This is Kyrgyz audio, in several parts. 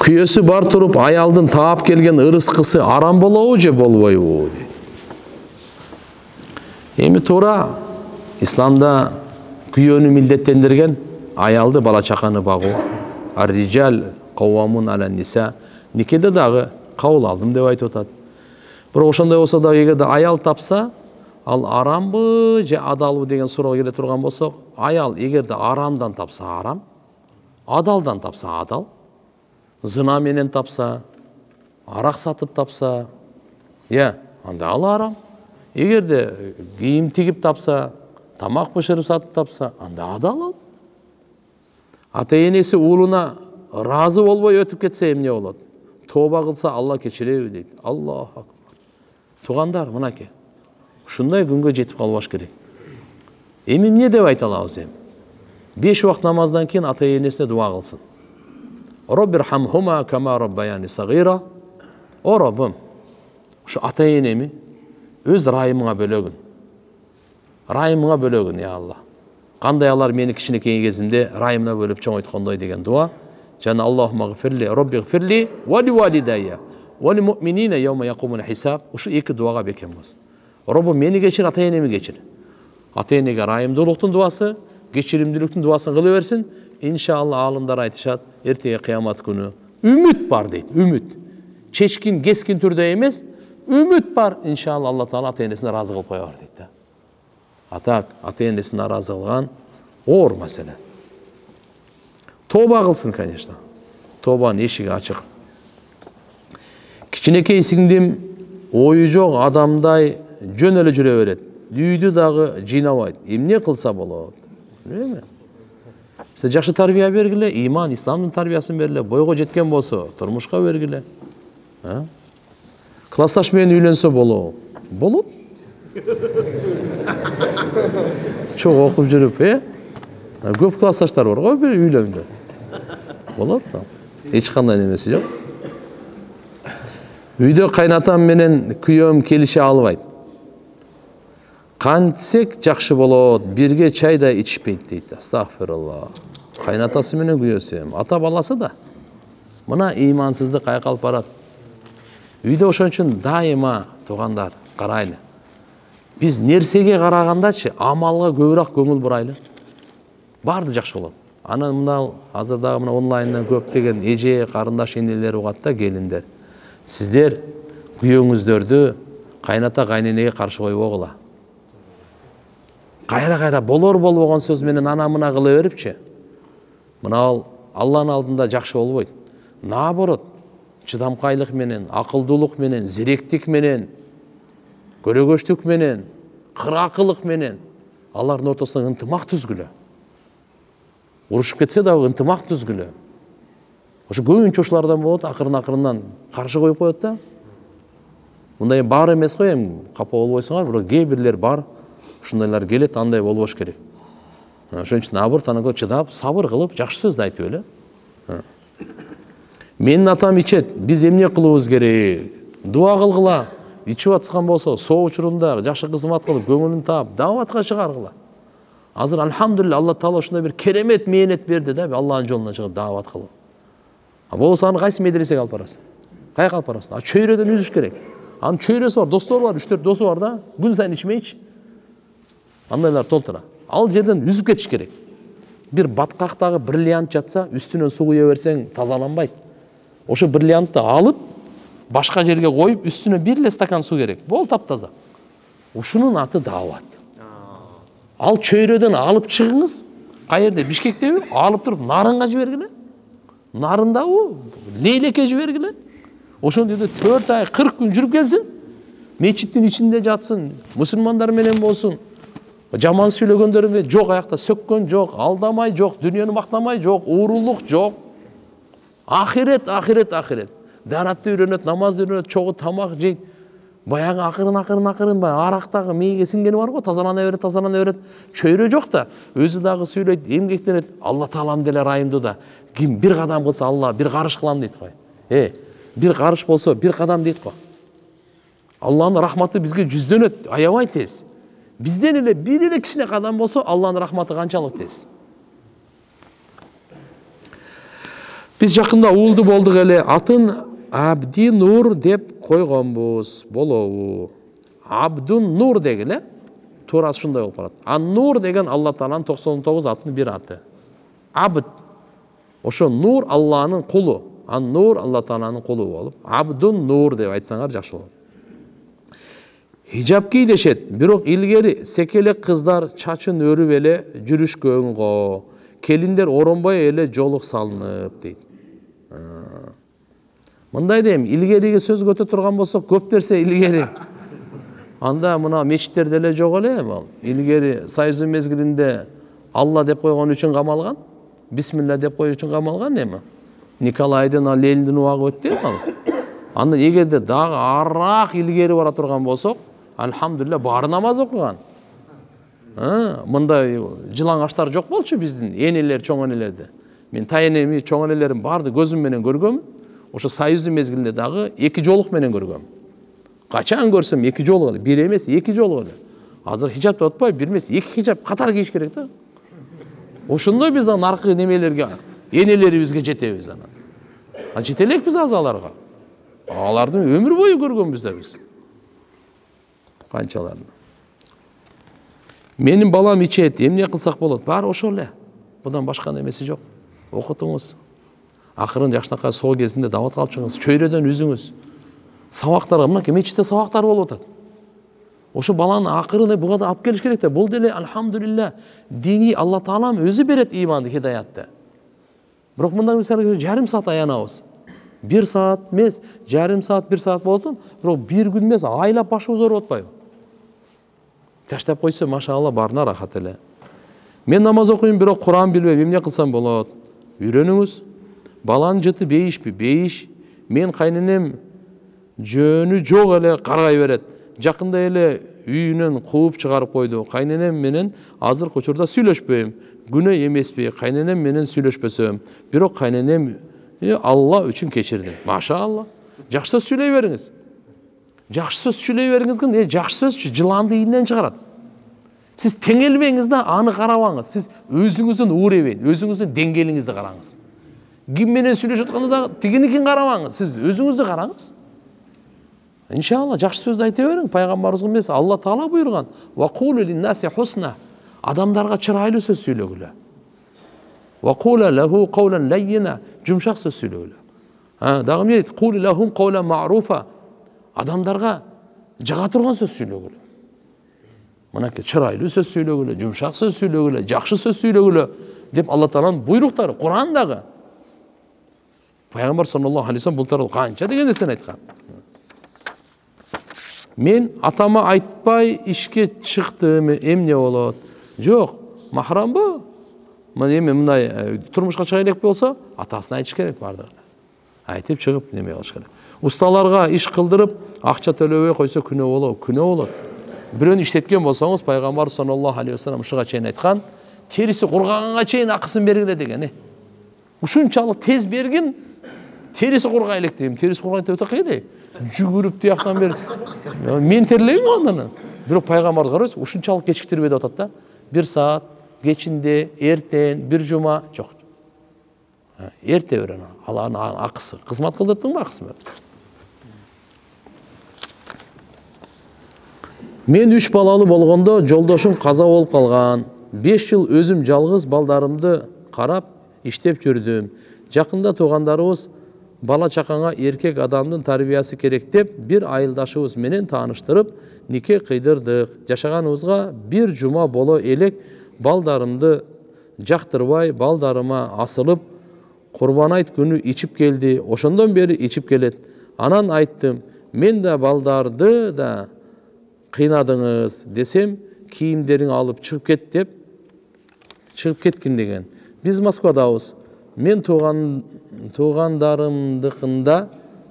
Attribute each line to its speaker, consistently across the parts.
Speaker 1: Күйөөсү бар туруп аялдын таап келген ырыскысы арам болобу же болбойбу дейт. Эми туура исламда күйөөнү милдеттендирген аялды бала чаканы багуу. Ар-риджал каввамун алан ниса. Никеде дагы кабыл алдым деп айтып атат. Бирок ошондой болсо да эгерде аял тапса, ал арамбы же адалбы деген суроого келе турган болсок, аял эгерде арамдан тапса арам, адалдан тапса адал, зына менен тапса, арак сатып тапса, анда ал арам. Эгерде кийим тигип тапса, тамак бышырып сатып тапса, анда адал ал. Ата-энеси уулуна разы болбой өтүп кетсе эмне болот? Тооба кылса Алла кечиреби дейт. Аллаху акбар. Туугандар, мынакей. Ушундай күнгө жетип калбаш керек. Эми эмне деп айта алабыз эми? 5 убакыт намаздан кийин ата-энесине дуа кылсын. Роббирхамхума кама роббаяни сагира. О Роббум, ушу ата-энеми өз райымыңа бөлөгүн. Райымыңа бөлөгүн, я Алла. Кандай алар мени кичинекей кезимде райымына бөлүп чоңойткондой деген дуа. Жана Аллахумма гфирли, Роббигфирли ва ли валидайя ва ли муъминина йаума якумул хисаб. Ушу эки дуага бекем болсун. Роббум мени кечир, ата-энеми кечир. Ата-энеге райымдуулуктун дуасы, кечиримдүүлүктүн дуасын кыла берсин. Иншалла алымдар айтышат, эртеге кыямат күнү үмүт бар дейт, үмүт. Чечкин, кескин түрдө эмес, үмүт бар. Иншалла Алла Таала ата-энесине разы кылып коёр дейт да. Атак, ата-энесине разы кылган оор маселе. Тооба кылсын, конечно. Тообанын эшиги ачык. Кичинекей сиңдим ою жок адамдай жөн эле жүрө берет. Үйдү дагы жыйнабайт. Эмне кылса болот? Эме? Сиз жакшы тарбия бергиле, иман, исламдын тарбиясын бергиле, бойго жеткен болсо, турмушка бергиле. Классташ менен үйлөнсө болобу? Болот. Чоң окуп жүрүп, көп классташтар бар го, бир үйлөнгөн. Болот да. Эч кандай немеси жок. Үйдө кайнатам менен күйөөм келише албайт. Кантсек жакшы болот, бирге чай да ичпейт дейт. Астагфирулла. Кайнатасы менен күйөөсү, ата баласы да. Мына имансыздык кайкалып барат. Үйдө ошон үчүн дайыма туугандар карайлы. Биз нерсеге карагандачы амалга көбүрөөк көңүл бурайлы. Барды жакшы болот. Анан мына азырдагы мына онлайндан көптөгөн эже, карындаш энелер угат да, келиндер. Сиздер күйөөңүздөрдү кайната кайненеге каршы койбогула. Кайра болор болбогон сөз менен ана мына кыла берипчи. Мына ал Алланын алдында жакшы болбойт. Наоборот, чыдамкайлык менен, акылдуулук менен, зиректик менен, көрөгөчтүк менен, кыракылык менен алардын ортосунда ынтымак түзгүлө. Урушуп кетсе дагы ынтымак түзгүлө. Ошо көбүнчө ушулардан болот, акырын-акырындан каршы коюп коет да. Мындай бар эмес го, эми капа болбойсуңар, бирок кээ бирлер бар. Ушундайлар келет, андай болбош керек. Ошон үчүн наоборот анага чыдап, сабыр кылып, жакшы сөз айтып эле. Менин атам ичет, биз эмне кылыбыз керек? Дуа кылгыла. Ичип атскан болсо, соо учурунда жакшы кызмат кылып, көңүлүн таап, даватка чыгаргыла. Азыр алхамдулилла, Алла Таала ушундай бир керемет мээнет берди да, Алланын жолуна чыгып дават кылып. Болсо аны кайсы медресеге алып барасың? Каяка алып барасың? Чөйрөдөн үзүш керек. Анын чөйрөсү бар, достору бар, 3-4 досу бар да, күн сайын ичмейчи. Андайлар толтура. Ал жерден үзүп кетиш керек. Бир баткактагы бриллиант жатса, үстүнөн суу куя берсең тазаланбайт. Ошо бриллиантты алып, башка жерге коюп, үстүнө бир эле стакан суу керек. Бол таптаза. Ушунун аты даават. Ал чөйрөдөн алып чыгыңыз, каерде, Бишкектеби, алып туруп Нарынга жибергиле. Нарындабы, Лейлекке жибергиле. Ошондо 4 ай, 40 күн жүрүп келсин. Мечиттин ичинде жатсын, мусулмандар менен болсун. Жаман сүйлөгөндөрү жок, аякта сөккөн жок, алдамай жок, дүйнөнү мактамай жок, уурулук жок. Ахирет. Даратты үйрөнөт, намазды үйрөнөт, чогуу тамак жейт. Баягы акырын баягы арактагы мээге сиңгени бар го, тазалана берет. Чөйрө жок да, өзү дагы сүйлөйт, эмгектенет. Алла Таалам деле райымдуу да. Ким бир кадам кылса Алла бир карыш кылам дейт го. Бир карыш болсо бир кадам дейт го. Алланын рахматы бизге жүздөнөт, аябай тез. Бизден эле бир эле кичине кадам болсо Алланын рахматы канчалык тез. Биз жакында уулду болдук эле, атын Абди Нур деп койгонбуз, болобу? Абдун Нур дегиле, туурасы ушундай болуп калат. Ан-Нур деген Алла Тааланын 99 атынын бир аты. Абд. Ошо Нур Алланын кулу. Ан-Нур Алла Тааланын кулу болуп, Абдун Нур деп айтсаңар жакшы болот. Хижап ки дешет, бирок илгери секелек кыздар чачын өрүп эле жүрүшкөн го. Келиндер оронбай эле жолук салынып дейт. Мындай дейм, илгериге сөз көтө турган болсок, көп нерсе илгери. Анда мына мечиттерде эле жок эле, илгери Союздун мезгилинде Алла деп койгон үчүн камалган, бисмилла деп коюу үчүн камалган эми. Николайдын, Лениндин убагы өттү эми. Анда эгерде дагы араак илгери бара турган болсок, алхамдулилля баары намаз окуган. Мындай жылаңаштар жок болчу биздин энелер, чоң энелерде. Мен тайенеми, чоң энелерим барды көзүм менен көргөм. Ошо Союздун мезгилинде дагы 2 жолук менен көргөм. Качан көрсөм 2 жолук эле, бир эмес 2 жолук эле. Азыр хижап деп атпайбы, бир эмес 2 хижап катар кийиш керек да. Ошондой биз наркы немелерге, энелерибизге жетебиз анан. Жетелек биз азаларга. Алардын өмүр бою көргөнбүз да биз. Канчаларын. Менин балам ичет, эмне кылсак болот? Баары ошол эле. Будан башка немеси жок. Окутуңуз. Акырын жакшынакай соо кезинде дават калып чыгыңыз, чөйрөдөн үзүңүз. Сабактарга, мына мечитте сабактар болуп атат. Ошо баланы акырын буга да алып келиш керек да. Бул деле алхамдулилля дини Алла Таалам өзү берет иманды, хидаятты. Бирок мындай мисалы жарым саат аянабыз. 1 саат эмес, жарым саат, 1 саат болот, бирок бир күн эмес, айлап башыбыз ооруп атпайбы? Таштап койсо, машалла, баарына рахат эле. Мен намаз окуйм, бирок Куран билбейм, эмне кылсам болот? Үйрөнүңүз. Баланын жыты бейишпи? Бейиш. Мен кайненем жөнү жок эле каргай берет. Жакында эле үйүнөн кууп чыгарып койду. Кайненем менен азыркы учурда сүйлөшпөйм. Күнөө эмеспи? Кайненем менен сүйлөшпөсөм. Бирок кайненем Алла үчүн кечирдим. Машалла. Жакшы сөз сүйлөй бериңиз. Жакшы сөз сүйлөй бериңиз, жакшы сөзчү жыланды ийинен чыгарат. Сиз теңелбеңиз да аны карабаңыз. Сиз өзүңүздүн уровень, өзүңүздүн деңгээлиңизди караңыз. Ким менен сүйлөшүп атканда да тигиникин карабаңыз. Сиз өзүңүздү караңыз. Иншалла жакшы сөздү айта бериң. Пайгамбарыбыз эмес, Алла Таала буйруган. Ва кулу лин-наси хусна. Адамдарга чырайлуу сөз сүйлөгүлө. Ва кула лаху каулан лаййина. Жумшак сөз сүйлөгүлө. Дагы эмне дейт? Кули лахум каулан ма'руфа. Адамдарга жага турган сөз сүйлөгүлө. Мынакей чырайлуу сөз сүйлөгүлө, жумшак сөз сүйлөгүлө, жакшы сөз сүйлөгүлө деп Алла Тааланын буйруктары Курандагы. Пайгамбар саллаллаху алейхи вассалам бул тууралуу канча деген нерсени айткан. Мен атама айтпай ишке чыктым, эмне болот? Жок, махрамбы? Мен эми мындай турмушка чыга элек болсо, атасына айтыш керек бардыгы. Айтып чыгып неме кылыш керек. Усталарга иш кылдырып, акча төлөбөй койсо күнөө болот, күнөө болот. Бирөөнү иштеткен болсоңуз, пайгамбар саллаллаху алейхи вассалам ушуга чейин айткан, териси кургаганга чейин акысын бергиле деген. Ушунчалык тез бергин, терisi кургай элек дейм. Терisi кургай деп атак эле. Жүгүрүп тияктан бери. Мен терлейм аны. Бирок пайгамбар карайсыз, ушунчалык кечиктирбей деп атат да. 1 саат кечинде, эртең, бир жума жок. Эрте бер аны. Алардын акысы. Кызмат кылдырдыңбы, акысын бер. Мен 3 балалуу болгондо жолдошум каза болуп калган. 5 жыл өзүм жалгыз балдарымды карап иштеп жүрдүм. Жакында туугандарыбыз бала чакаңа эркек адамдын тарбиясы керек деп бир айылдашыбыз менен тааныштырып, нике кыйдырдык. Жашаганыбызга 1 жума боло элек балдарымды жактырбай, балдарыма асылып, Курбан айт күнү ичип келди. Ошондон бери ичип келет. Анан айттым, мен да балдарды да кыйнадыңыз десем, кийимдериң алып чыгып кет деп чыгып кеткин деген. Биз Москвадабыз. Мен туугандарымдыкында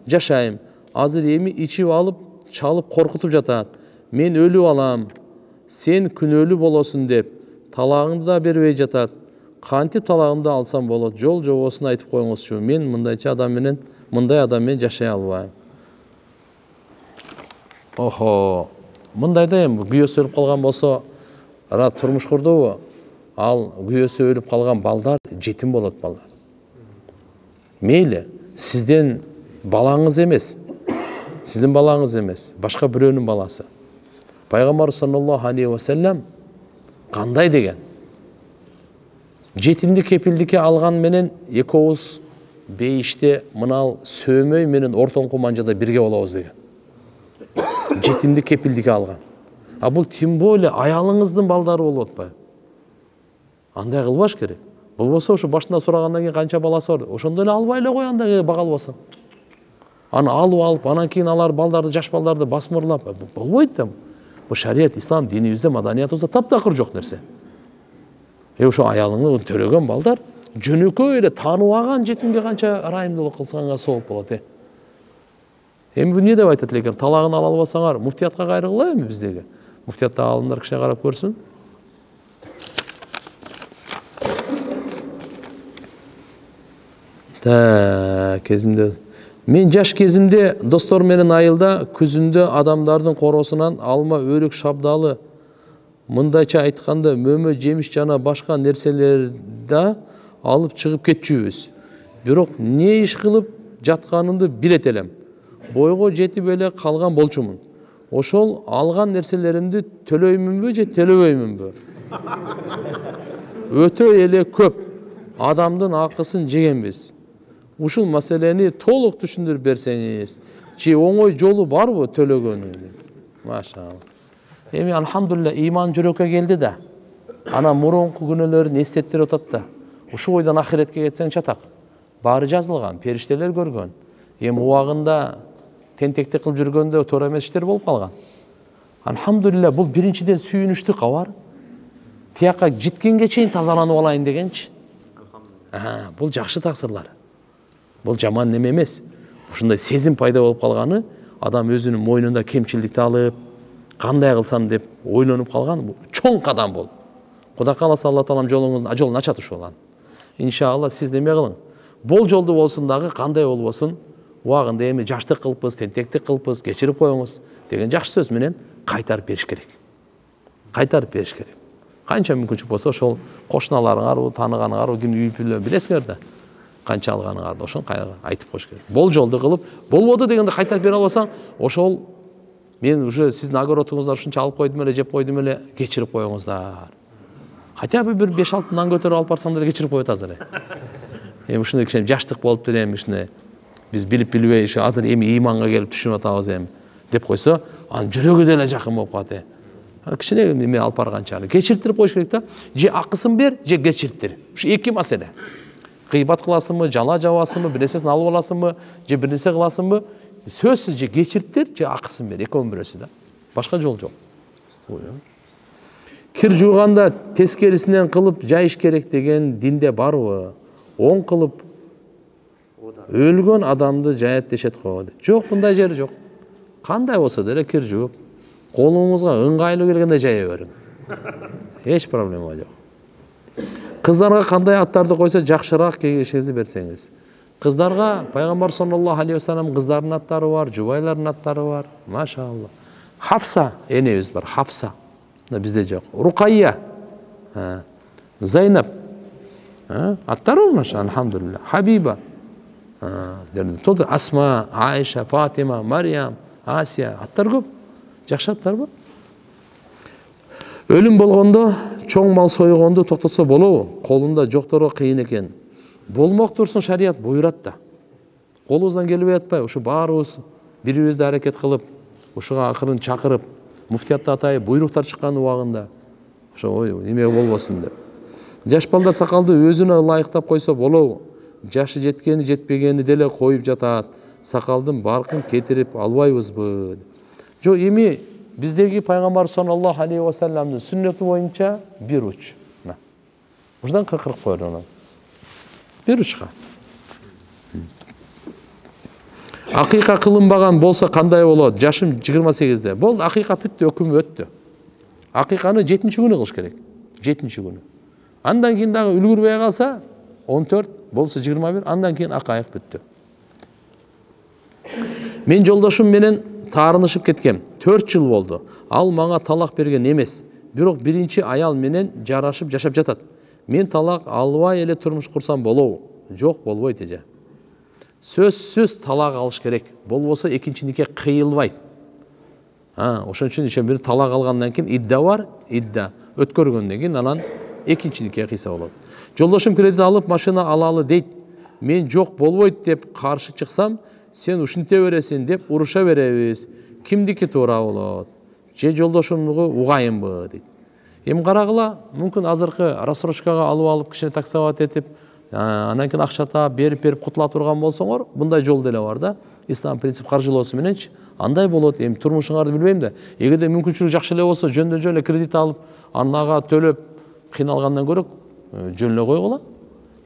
Speaker 1: жашайм. Азыр эми ичип алып, чалып коркутуп жатат. Мен өлүп алам. Сен күнөөлүү болосуң деп талагыңды да бербей жатат. Кантип талагымды алсам болот? Жол жобосун айтып коюңузчу. Мен мындай адам менен жашай албайм. Охо. мындай да эми күйөөсү өлүп калган болсо, турмуш курдубу, ал күйөөсү өлүп калган балдар жетим болот балдар. Мейли, сизден балаңыз эмес, башка бирөөнүн баласы. Пайгамбар саллаллаху алейхи ва саллям кандай деген? Жетимди кепилдикке алган менен экөөбүз бейиште мынал сөөмөй менен ортоңку манжада бирге болобуз деген. Жетимди кепилдикке алган. А бул тем более аялыңыздын балдары болуп атпайбы? Андай кылбаш керек. Болбосо ошо башында сурагандан кийин канча баласы бар, ошондо эле албай эле кой андай бага албасаң. Аны алып, анан кийин алар балдарды, жаш балдарды басмырлап, болбойт да. Бул шарият, ислам динибизде, маданиятыбызда таптакыр жок нерсе. Ошо аялыңды төлөгөн балдар жөнөкөй эле тааныбаган жетимге канча ырайымдуулук кылсаңар сооп болот. Эми бул эмне деп айтат экен? Талагын ала албасаңар, муфтиятка кайрылгыла эми биздеги. Муфтиятта алымдар кишине карап көрсүн. Кезимде мен жаш кезимде достор менен айылда күзүндө адамдардын коросунан алма, өрүк, шабдалы, мындайча айтканда мөмө, жемиш жана башка нерселерди алып чыгып кетчүбүз. Бирок не иш кылып жатканымды билет элем. Бойго жетип эле калган болчумун. Ошол алган нерселеримди төлөймүнбү же төлөбөймүнбү? Өтө эле көп адамдын акысын жегенбиз. Ушул маселени толук түшүндүрүп берсеңиз, же оңой жолу барбы төлөгөнүн? Машалла. Эми алхамдулилля ыйман жүрөккө келди да. Ана мурунку күнөөлөрүн эстеттирип атат да. Ушул бойдон ахиретке кетсең чатак. Баары жазылган, периштелер көргөн. Эми убагында тентектик кылып жүргөндө туура эмес иштер болуп калган. Алхамдулилля бул биринчиден сүйүнүчтү кабар. Тияка жеткенге чейин тазаланып алайын дегенчи. Бул жакшы таксырлар. Бул жаман неме эмес. Ушундай сезим пайда болуп калганы, адам өзүнүн мойнунда кемчилдикти алып, кандай кылсам деп ойлонуп калган, бул чоң кадам болду. Кудай кааласа Алла таалам жолун ачат ушул. Иншалла сиз неме кылың. Бол жолду болсун дагы, кандай болбосун, убагында эми жаштык кылыппыз, тентектик кылыппыз, кечирип коюңуз деген жакшы сөз менен кайтарып бериш керек. Кайтарып бериш керек. Канча мүмкүнчүлүк болсо ошол кошуналарыңар, тааныганыңар, кимди билесиңер да. Канча алганыңарды ошон айтып коюш керек. Бол жолду кылып, болбоду дегенде кайтарып бере албасаң, ошол мен уже сиздин огородуңуздан ушунча алып койдум эле, жеп койдум эле, кечирип коюңуздар. Хотя бы бир 5-6 нан көтөрүп алып барсаң деле кечирип коет азыр. Эми ушундай кичине жаштык болуптур эми ушундай. Биз билип-билбей ушу азыр эми ыйманга келип түшүнүп атабыз эми деп койсо, анын жүрөгү деле жакын болуп калат. Кичине эме алып барганча кечиртирип коюш керек да. Же акысын бер, же кечиртир. Ушу эки маселе. Кыйбат кыласыңбы, жала жабасыңбы, бир нерсесин алып аласыңбы, же бир нерсе кыласыңбы? Сөзсүз же кечиртир, же акысын бер. Экөөнүн бирөөсү да. Башка жол жок. Кир жууганда тескерисинен кылып жайыш керек деген динде барбы? Оң кылып өлгөн адамды жаят дешет го. Жок, мындай жери жок. Кандай болсо деле кир жууп, колуңузга ыңгайлуу келгенде жая бериң. Эч проблема жок. Кыздарга кандай аттарды койсо жакшыраак кеңешиңизди берсеңиз. Кыздарга пайгамбар саллаллаху алейхи ва саллям кыздардын аттары бар, жубайлардын аттары бар. Машалла. Хафса энебиз бар, Хафса. Бизде жок. Рукайя, Зайнаб. Аттары бар, машалла, алхамдулилля. Хабиба. Тодо Асма, Айша, Фатима, Мариям, Асия. Аттар көп. Жакшы аттар бар. Өлүм болгондо чоң мал сойгонду токтотсо болобу? Колунда жокторго кыйын экен. Болмок турсун, шарият буйрат да. Колубуздан келбей атпайбы? Ушу баарыбыз бири-бирибизди аракет кылып, ушуга акырын чакырып, муфтиятта атайы буйруктар чыккан убагында. Ошо эме болбосун деп. Жаш балдар сакалды өзүнө ылайыктап койсо болобу? Жашы жеткени, жетпегени деле коюп жатат. Сакалдын баркын кетирип албайбызбы? Жок, эми биздеги пайгамбар саллаллаху алейхи ва салламдын сүннөтү боюнча бир уч. Ушдан кыркырып коелу. Бир учка. Акыйка кылынбаган болсо кандай болот? Жашым 28-де. Болду, акыйка бүттү, өкүм өттү. Акыйканы 7-күнү кылыш керек. 7-күнү. Андан кийин дагы үлгүрбөй калса 14, болсо 21, андан кийин акайык бүттү. Мен жолдошум менен таарынышып кеткем. 4 жыл болду. Ал мага талак берген эмес. Бирок биринчи аял менен жарашып жашап жатат. Мен талак албай эле турмуш курсам болобу? Жок, болбойт эже. Сөзсүз талак алыш керек. Болбосо экинчи нике кыйылбайт. Ошон үчүн ишен бир талак алгандан кийин идда бар, идда өткөргөндөн кийин анан экинчи нике кыйса болот. Жолдошум кредит алып машина алалы дейт. Мен жок болбойт деп каршы чыксам, сен ушинте бересиң деп уруша беребиз. Кимдики туура болот? Же жолдошумдугу угайынбы дейт. Эми карагыла, мүмкүн азыркы рассрочкага алып кишини таксовать этип, анан кийин акча таап берип кутула турган болсоңор, мындай жол деле бар да. Ислам принцип каржылоосу мененчи андай болот. Эми турмушуңарды билбейм да. Эгерде мүмкүнчүлүк жакшы эле болсо, жөндөн эле кредит алып, анага төлөп кыйналгандан көрө жөн эле койгула.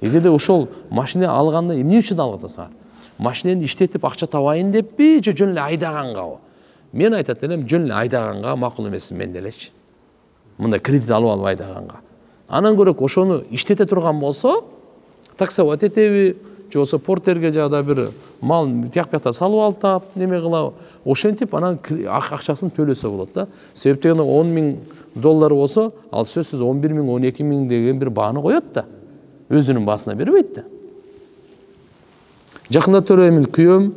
Speaker 1: Эгерде ошол машина алганда эмне үчүн алып атасың? Машинени иштетип акча табайын деппи, же жөн эле айдагангабы? Мен айтат элем, жөн эле айдаганга макул эмес мен делечи. Мындай кредит алып айдаганга. Анан көрөк ошону иштете турган болсо, таксовать этеби, же болсо портерге жада бир мал тияк-бияктан салып алып тап, неме кылабы? Ошентип анан акчасын төлөсө болот да. Себептен $10,000 болсо, ал сөзсүз 11,000, 12,000 деген бир бааны коет да. Өзүнүн баасына бербейт да. Жакында төрөймүн, күйөөм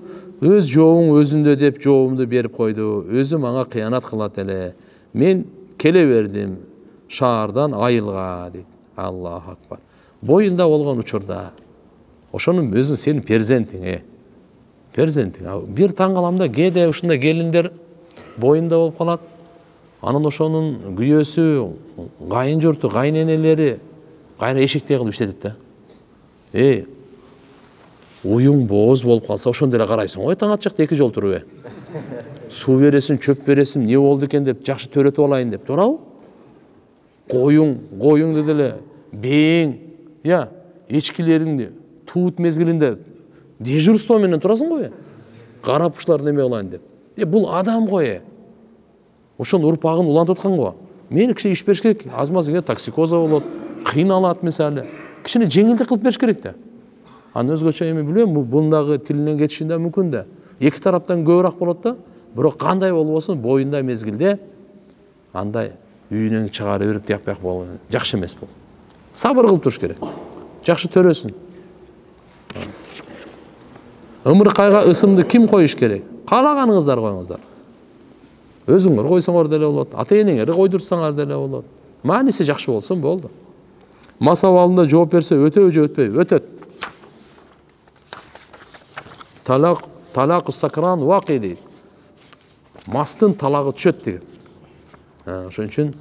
Speaker 1: өз жообуң өзүндө деп жообумду берип койду. Өзү мага кыянат кылат эле. Мен келе бердим шаардан айылга дейт. Аллаху акбар. Боюнда болгон учурда ошонун өзүң сенин перзентиң, перзентиң. Бир таң калам да, кээде ушундай келиндер боюнда болуп калат. Анан ошонун күйөөсү, кайын журту, кайненелери кайра эшиктей кылып иштетет да. Уюң бооз болуп калса, ошондо эле карайсың ғой, таң атчакта 2 жол туруп. Суу бересиң, чөп бересиң, не болду экен деп жакшы төрөтүп алайын деп, туурабы? Коюңду деле бээң, эчкилериңди туут мезгилинде дежурство менен турасың ғой. Карап ушулар неме кылайын деп. Бул адам ғой. Ошонун урпагын улантып аткан го. Мен киши иш бериш керек. Азмазга токсикоза болот, кыйналат мисалы. Кишини жеңилдик кылып бериш керек да. Анын өзгөчө эми билбейм, бундагы тилинен кетишинде мүмкүн да. Эки тараптан көбүрөөк болот да. Бирок кандай болбосун, боюнда мезгилде андай үйүнөн чыгарып берип тияк-бияк болгон жакшы эмес бул. Сабыр кылып туруш керек. Жакшы төрөсүн. Ымыркайга ысымды ким коюш керек? Каалаганыңыздар коюңуздар. Өзүңөр койсоңор деле болот, ата-энеңерди койдурсаңар деле болот. Мааниси жакшы болсун болду. Мас абалында жооп берсе өтөбү же өтпөйбү? Өтөт. Талак сакран вакый дейт. Мастын талагы түшөт деген. Ошон үчүн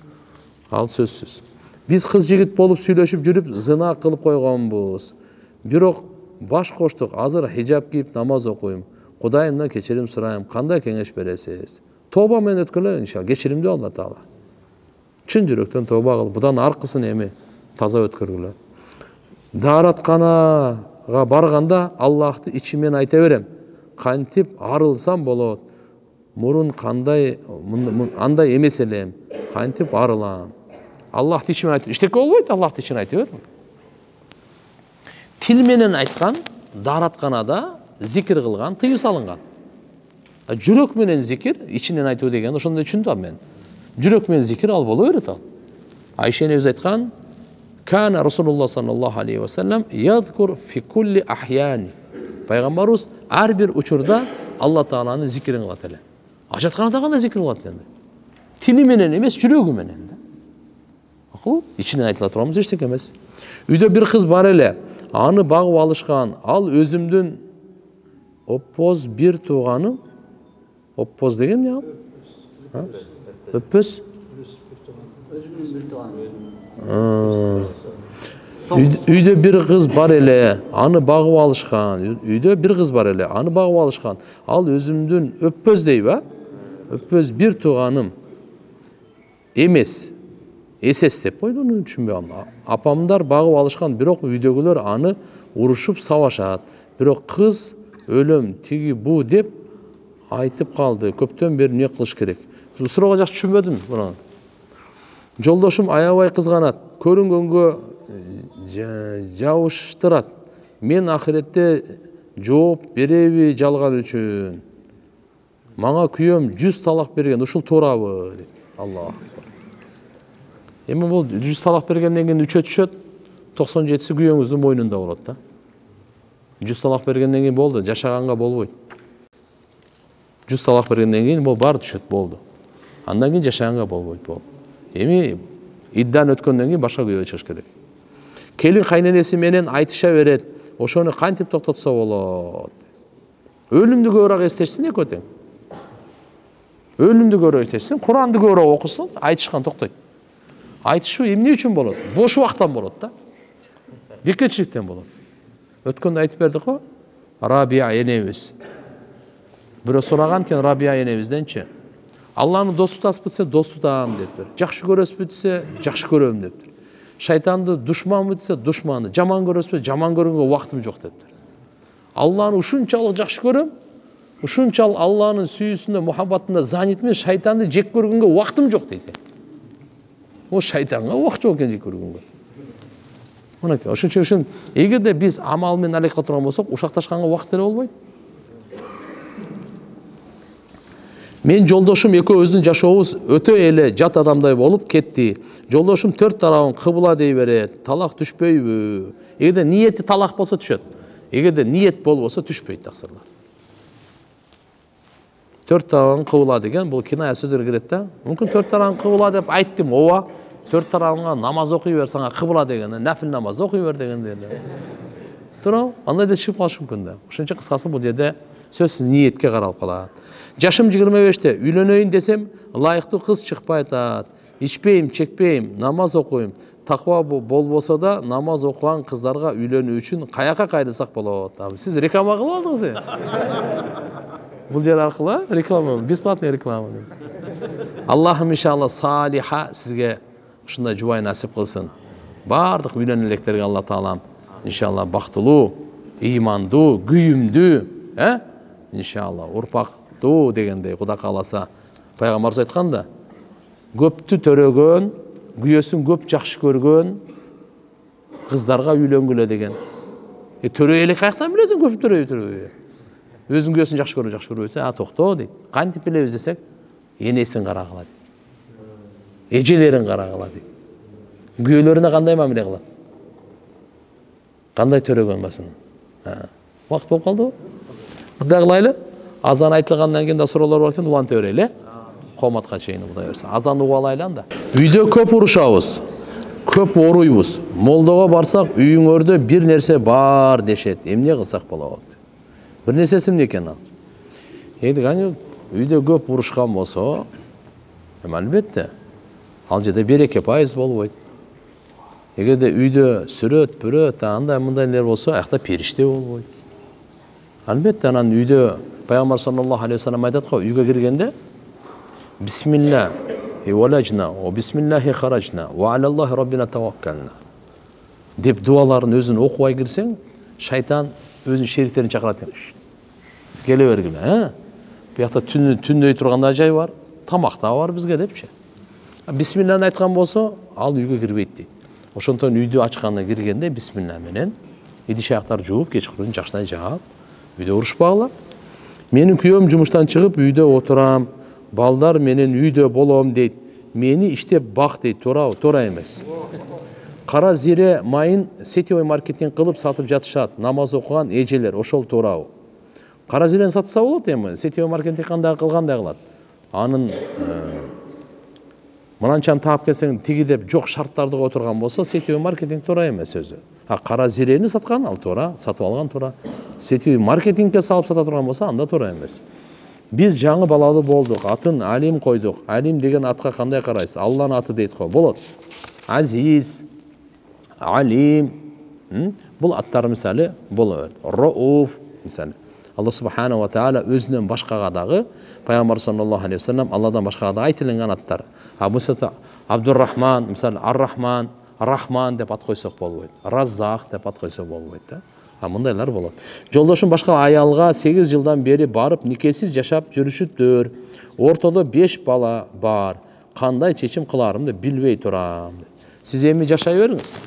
Speaker 1: ал сөзсүз. Биз кыз жигит болуп сүйлөшүп жүрүп зына кылып койгонбуз. Бирок баш коштук. Азыр хижаб кийип намаз окуйм. Кудайымдан кечирим сурайм. Кандай кеңеш бересиз? Тоба менен өткөрөлө иншалла. Кечиримди Алла Таала. Чын жүрөктөн тоба кылып, будан аркысын эми таза өткөргүлө. Дааратканага барганда Аллахты ичимен айта берем. Кантип арылсам болот. Мурун кандай андай эмес элем. Кантип арылам. Аллахты ичимен айтып, иштеке болбойт, Аллахты ичимен айта бер. Тил менен айткан, дааратканада зикир кылган, тыюу салынган. Жүрөк менен зикир, ичинен айтуу деген ошондой түшүндүм мен. Жүрөк менен зикир ал боло берет ал. Айша энебиз айткан, "Кана Расулуллах саллаллаху алейхи ва саллям ядкур фи кулли ахяни." Пайгамбарыбыз ар бир учурда Алла Тааланын зикирин кылат эле. Ажатканада кандай зикир кылат эndi? Тили менен эмес, жүрөгү менен. Акыл, ичинен айтыла турганбыз эчтеке эмес. Үйдө бир кыз бар эле, аны багып алышкан. Ал өзүмдүн оппоз бир тууганым. Оппоз деген эмне ал? Өппөз? Үйдө бир кыз бар эле, аны багып алышкан. Үйдө бир кыз бар эле, аны багып алышкан. Ал өзүмдүн өппөз дейби? Өппөз бир тууганым эмес. Эсес деп койду, муну түшүнбөй калдым. Апамдар багып алышкан, бирок үйдөгүлөр аны урушуп сабашат. Бирок кыз өлөм тиги бу деп айтып калды. Көптөн бери эмне кылыш керек? Суроого жакшы түшүнбөдүм буну. Жолдошум аябай кызганат. Көрүнгөнгө жабыштырат. Мен ахиретте жооп береби жалган үчүн? мага күйөөм 100 талак берген, ушул туурабы дейт. Аллах. Эми бул 100 талак бергенден кийин 3-өт түшөт, 97си күйөөңүздүн мойнунда болот да. 100 талак бергенден кийин болду, жашаганга болбойт. 100 талак бергенден кийин бул баары түшөт, болду. Андан кийин жашаганга болбойт, болду. Эми иддан өткөндөн кийин башка күйөө чыгыш керек. Келин кайненеси менен айтыша берет, ошону кантип токтотсо болот? Өлүмдү көбүрөөк эстешсин экөө тең. Өлүмдү көбүрөөк эстешсин, Куранды көбүрөөк окусун, айтышкан токтойт. Айтышуу эмне үчүн болот? Бош убактан болот да. Бекетчиликтен болот. Өткөндө айтып бердик го, Рабия энебиз. Бирөө сураган экен Рабия энебизденчи. Алланы дос тутасызбы десе, дос тутам дептир. Жакшы көрөсүзбү десе, жакшы көрөм дептир. Шайтанды душманбы десе, душманы. Жаман көрөсүзбү, жаман көргөнгө убактым жок дептир. Алланы ушунчалык жакшы көрөм, ушунчалык Алланын сүйүүсүндө, мухаббатында занитмен, шайтанды жек көргөнгө убактым жок дейт. О шайтанга убакыт жок экен жек көргөнгө. Мынакей, ошон үчүн эгерде биз амал менен алек кыла турган болсок, ушакташканга убакыт деле болбойт. Мен жолдошум экөөбүздүн жашообуз өтө эле жат адамдай болуп кетти. Жолдошум 4 тарабын кыбыла дей берет. Талак түшпөйбү? Эгерде ниети талак болсо түшөт. Эгерде ниет болбосо түшпөйт таксырлар. 4 тарабын кыбыла деген бул киная сөздөр кирет да. Мүмкүн 4 тарабын кыбыла деп айттым, ооба. 4 тарабыңа намаз окуй бер, сага кыбыла деген, нафил намаз окуй бер дегенде. Туурабы? Андай да чыгып калышы мүмкүн да. Ошончо кыскасы бул жерде сөзсүз ниетке каралып калат. Жашым 25-те, үйлөнөйүн десем, ылайыктуу кыз чыкпай атат. Ичпейм, чекпейм, намаз окуйм. Таква болбосо да намаз окуган кыздарга үйлөнүү үчүн каяка кайрылсак болот? Сиз реклама кылып алдыңыз. Бул жер аркылуу реклама, бесплатный реклама. Аллахым иншалла салиха сизге ушундай жубай насип кылсын. Бардык үйлөнө электерге Алла таалам иншалла бактылуу, ыймандуу, күйүмдүү, иншалла урпактуу дегендей Кудай кааласа. Пайгамбарыбыз айтканда, көптү төрөгөн, күйөөсүн көп жакшы көргөн кыздарга үйлөнгүлө деген. Төрөй элек каяктан билесиң көп төрөй? Өзүң күйөөсүн жакшы көрбөйсөң, токто дейт. Кантип билебиз десек, энесин карагыла дейт. Эжелерин карагыла дейт. Күйөөлөрүнө кандай мамиле кылат? Кандай төрөгөн басын? Убакыт болуп калдыбы? Мындай кылайлы. Азан айтылгандан кийин да суроолор бар экен, улантып берели. Кооматка чейин Кудай берсе. Азанды угуп алайлы анда. Үйдө көп урушабыз. Көп оруйбуз. Молдого барсак, үйүңөрдө бир нерсе бар дешет. Эмне кылсак болот? Бир нерсеси эмне экен ал? Кане үйдө көп урушкан болсо, албетте, ал жерде береке пайыз болбойт. Эгерде үйдө сүрөт, бүрөт, андай мындайлар болсо, аякта периште болбойт. Албетте, анан үйдө Пайгамбар саллаллаху алейхи ва саллям айтат го, үйгө киргенде бисмилла валажна ва бисмиллахи харажна ва алаллахи раббина таваккална деп дуаларын өзүн окубай кирсең, шайтан өзүнүн шериктерин чакырат экен. Келе бергиле, биякта түндөй турганда жай бар, тамакта бар бизге депчи. Бисмилланы айткан болсо, ал үйгө кирбейт дейт. Ошондон үйдү ачканда киргенде бисмилла менен идиш аяктарды жууп, кечкурун жакшынай жаап, үйдө урушпагыла. Менин күйөөм жумуштан чыгып үйдө отурам, балдар менен үйдө болом дейт. Мени иштеп бак дейт, туура эмес. Кара зире майын сетевой маркетинг кылып сатып жатышат, намаз окуган эжелер, ошол туурабы? Кара зирени сатса болот эми, сетевой маркетинг кандай кылгандай кылат. Анын мынанчаны таап келсең тиги деп жок шарттарды отурган болсо, сетевой маркетинг туура эмес өзү. Кара зирени саткан ал туура, сатып алган туура. Сетевой маркетингке салып сата турган болсо, анда туура эмес. Биз жаңы балалуу болдук, атын Алим койдук. Алим деген атка кандай карайсыз? Алланын аты дейт го. Болот. Азиз, Алим. Бул аттар мисалы болот. Рауф мисалы. Алла субханаху ва таала өзүнөн башкага дагы Пайгамбар саллаллаху алейхи ва саллям Алладан башкага да айтылган аттар. Мисалы Абдуррахман, мисалы Ар-Рахман, Рахман деп ат койсок болбойт. Раззак деп ат койсок болбойт да. Мындайлар болот. Жолдошум башка аялга 8 жылдан бери барып никесиз жашап жүрүшүптүр. Ортодо 5 бала бар. Кандай чечим кыларымды билбей турам. Сиз эми жашай бериңиз.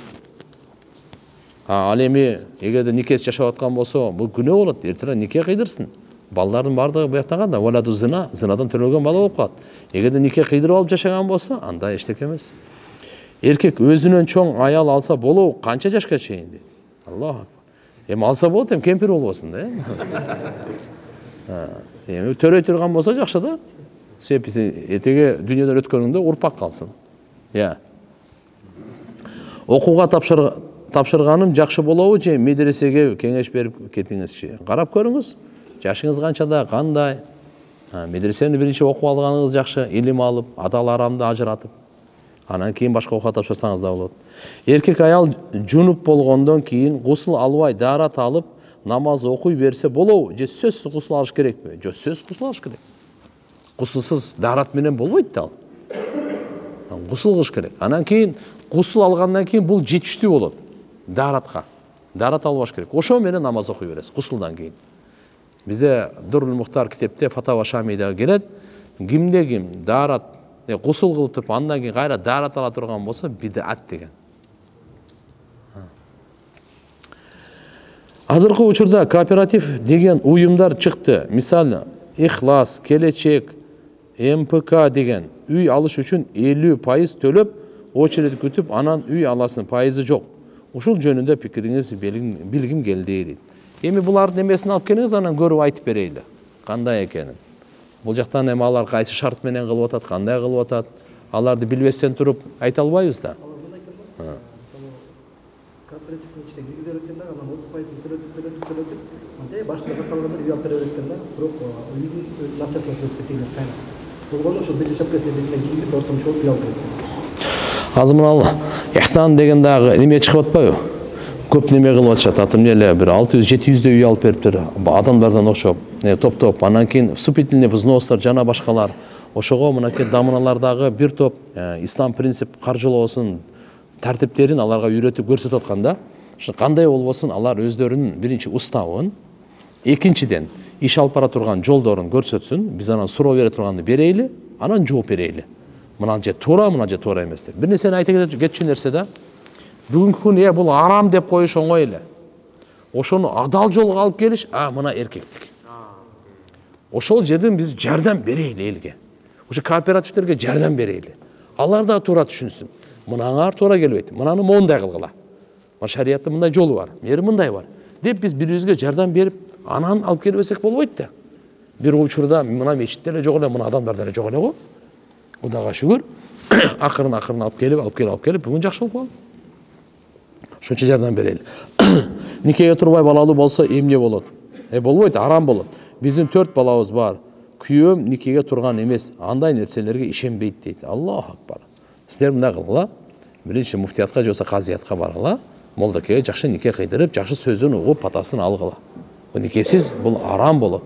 Speaker 1: Ал эми эгерде никесиз жашап аткан болсо, бул күнөө болот. Эртең нике кыйдырсын. Балдардын бардыгы буяктан кандай валаду зина, зынадан төрөлгөн бала болуп калат. Эгерде нике кыйдырып алып жашаган болсо, анда эчтеке эмес. Эркек өзүнөн чоң аял алса болобу, канча жашка чейин дейт. Аллах. Эми алса болот, эми кемпир болбосун да. Эми төрөй турган болсо жакшы да. Сеписи этеге дүйнөдөн өткөнүндө урпак калсын. Окууга тапшырганым жакшы болобу же медресеге кеңеш берип кетиңизчи. Карап көрүңүз. Жашыңыз канчада, кандай? Медресени биринчи окуп алганыңыз жакшы, илим алып, адал арамды ажыратып. Анан кийин башка окууга тапшырсаңыз да болот. Эркек аял жунуп болгондон кийин гусул албай, даарат алып, намаз окуй берсе болобу же сөзсүз гусул алыш керекпи? Жок, сөзсүз гусул алыш керек. Гусулсуз даарат менен болбойт да ал. Гусул кылыш керек. Анан кийин гусул алгандан кийин бул жетиштүү болот. Дааратка. Даарат албаш керек. Ошо менен намаз окуй бересиз гусулдан кийин. Бизде Дурул Мухтар китепте Фатава Шамида келет. Кимде ким даарат гусул кылып туруп андан кийин кайра даарат ала турган болсо бидат деген. Азыркы учурда кооператив деген уюмдар чыкты. Мисалы, Ихлас, Келечек, МПК деген үй алыш үчүн 50% төлөп, очередь күтүп, анан үй аласың, пайызы жок. Ушул жөнүндө пикириңиз билгим келди дейт. Эми булардын эмесин алып келиңиз, анан көрүп айтып берейли. Кандай экенин. Бул жактан эми алар кайсы шарт менен кылып атат, кандай кылып атат, аларды билбестен туруп айта албайбыз да.
Speaker 2: Кооперативдин ичине киргизе береткенде, анан 30% төлөтүп, андай башында калган үй алып бере береткенде, бирок үйдүн өзүнүн акчасына төлөп кеткен кайнап. Болгону ошо биринчи шапкасына киргизип ортомчу үй алып берет.
Speaker 1: Азыр мына Ихсан деген дагы неме чыгып атпайбы? Көп неме кылып атышат. Атым эле бир 600-700 үй алып бериптир. Адамдардан окшоп, топ-топ. Анан кийин вступительный взностор жана башкалар. Ошого мынакей дамыналардагы бир топ ислам принцип каржылоосун тартиптерин аларга үйрөтүп көрсөтүп атканда, кандай болбосун алар өздөрүнүн биринчи уставын, экинчиден иш алып бара турган жолдорун көрсөтсүн, биз анан суроо бере турганды берейли, анан жооп берейли. Мына же туура, мына же туура эмес деп. Бир нерсени айта кетчү нерсе да, бүгүнкү күн бул арам деп коюш оңой эле. Ошону адал жолго алып келиш, мына эркектик. Ошол жерден биз жардам берейли элге. Ошо кооперативтерге жардам берейли. Алар да туура түшүнсүн. Мынаңар туура келбейт. Мынаны мондай кылгыла. Шариаттын мындай жолу бар, мери мындай бар. Деп биз бирибизге жардам берип, анан алып келбесек болбойт да. Бир учурда мына мечитте эле жок эле, мына адамдарда эле жок эле го. Кудайга шүгүр. Акырын алып келип, бүгүн жакшы болуп калды. Ошончо жардам берели. Никеге турбай балалуу болсо эмне болот? Болбойт, арам болот. Биздин 4 балабыз бар. Күйөөм никеге турган эмес. Андай нерселерге ишенбейт дейт. Аллах акбар. Силер мындай кылгыла. Биринчи муфтиятка же болсо казиятка баргыла. Молдакеге жакшы нике кыйдырып, жакшы сөзүн угуп, патасын алгыла. Бул никесиз бул арам болот.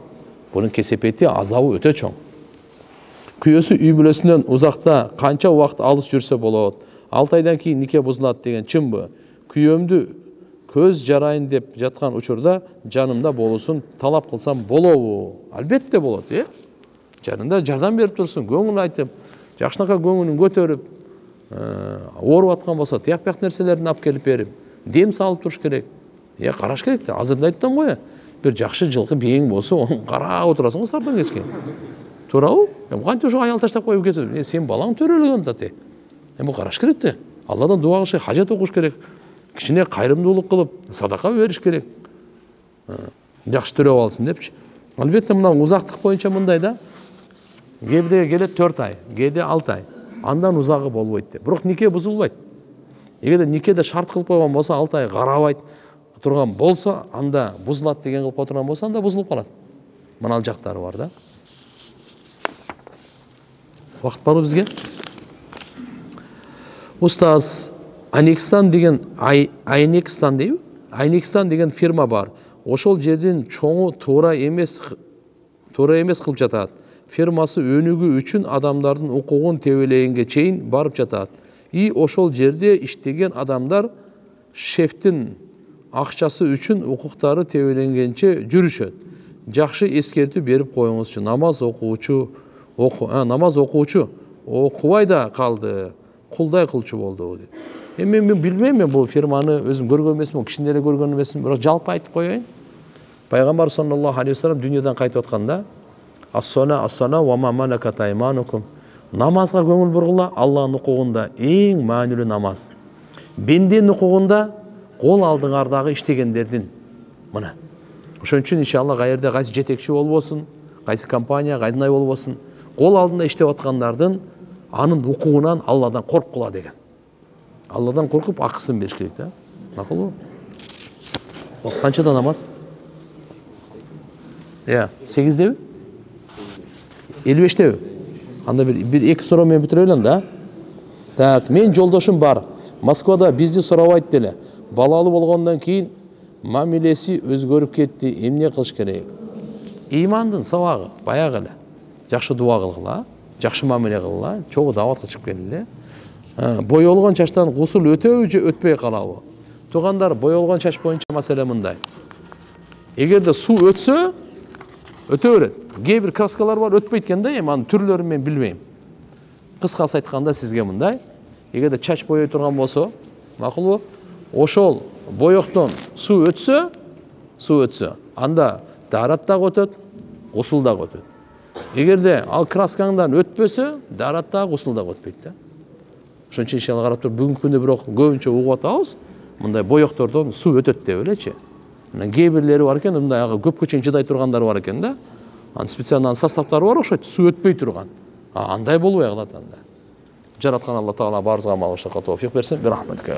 Speaker 1: Бунун кесепети, азабы өтө чоң. Күйөөсү үй бүлөсүнөн узакта канча убакыт алыс жүрсө болот? 6 айдан кийин нике бузулат деген чынбы? Күйөөмдү көз жарайын деп жаткан учурда жанымда болуусун талап кылсам болобу? Албетте болот, Жанында жардам берип турсун, көңүл айтып, жакшынакай көңүлүн көтөрүп, ооруп аткан болсо, тияк-бияк нерселерин алып келип берип, дем салып туруш керек. Караш керек да. Азыр да айттым го, бир жакшы жылкы бийиң болсо, onu карап отурасың го сардан кечке. Туурабы? Кантип ошо аял таштап коюп кетет? Сен балаң төрөлгөн да те. Бул караш керек да. Алладан дуа кылыш, хажат окуш керек. Кичине кайрымдуулук кылып, садака бериш керек. Жакшы төрөп алсын депчи. Албетте мына узактык боюнча мындай да. Кээде келет 4 ай, кээде 6 ай. Андан узагы болбойт деп. Бирок нике бузулбайт. Эгерде никеде шарт кылып койгон болсо, 6 ай карабайт турган болсо, анда бузулат деген кылып отурган болсо, анда бузулуп калат. Мына жактары бар да. Вакыт барбы бизге? Устаз, Айнекстан деген Айнекстан дейби? Айнекстан деген фирма бар. Ошол жердин чоңу туура эмес кылып жатат. Фирмасы өнүгүү үчүн адамдардын укугун тебелегенге чейин барып жатат. И ошол жерде иштеген адамдар шефтин акчасы үчүн укуктары тебеленгенче жүрүшөт. Жакшы эскертүү берип коюңузчу. Намаз окуучу окубай да калды. Кулдай кылчу болду дейт. Мен билбейм, бул фирманы өзүм көргөн эмесмин, кичине эле көргөн эмесмин, бирок жалпы айтып коеюн. Пайгамбар саллаллаху алейхи вассалам дүйнөдөн кайтып атканда ас-сана ва ма малакат айманукум. Намазга көңүл бургула, Аллахтын укугунда эң маанилүү намаз. Бенденин укугунда кол алдыңардагы иштегендердин. Мына. Ошон үчүн иншалла кайерде кайсы жетекчи болбосун, кайсы компания кайдынай болбосун, кол алдында иштеп аткандардын анын укугунан Алладан корккула деген. Алладан коркуп акысын бериш керек да. Макулбу? Канчада намаз? 8-деби? 55-деби? Анда бир эки суроо менен бүтүрө элем да. Так, мен жолдошум бар. Москвада бизди сурабайт деле. Балалуу болгондон кийин мамилеси өзгөрүп кетти. Эмне кылыш керек? Имандын сабагы баягы эле. Жакшы дуа кылгыла, жакшы мамиле кылгыла, чогуу даватка чыгып келели. Боёлгон чачтан гусул өтөбү же өтпөй калабы? Туугандар, боёлгон чач боюнча маселе мындай. Эгерде суу өтсө, өтө берет. Кээ бир краскалар бар өтпөйт экен да, эми анын түрлөрүн мен билбейм. Кыскасы айтканда сизге мындай, эгерде чач боёй турган болсо, макулбу? Ошол боёктон суу өтсө, анда дарат дагы өтөт, гусул дагы өтөт. Эгерде ал краскаңдан өтпөсө, дарат дагы гусул дагы өтпөйт да. Ошон үчүн иншалла карап туруп бүгүнкү күндө бирок көбүнчө угуп атабыз, мындай боёктордон суу өтөт деп элечи. Анан кээ бирлери бар экен, мындай көпкө чейин чыдай тургандар бар экен да. Анын специалдуу составтары бар окшойт, суу өтпөй турган. Андай болбой калат анда. Жараткан Алла Таала баарыбызга амал кылышка тоофик берсин. Бирахматка.